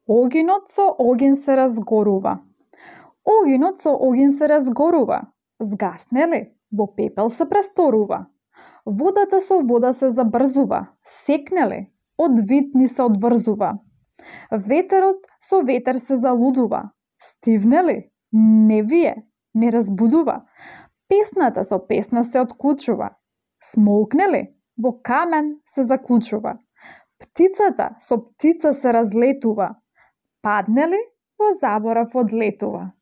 Огинот со огин се разгорува. Огинот со огин се разгорува. Згасне ли, во пепел се престорува. Водата со вода се забрзува. Секне ли, од вид ни се одврзува. Ветерот со ветер се залудува. Стивне ли, не вие, не разбудува. Песната со песна се отклучува. Смолкне ли, во камен се заклучува. Птицата со птица се разлетува. Падне ли, во заборав одлетува.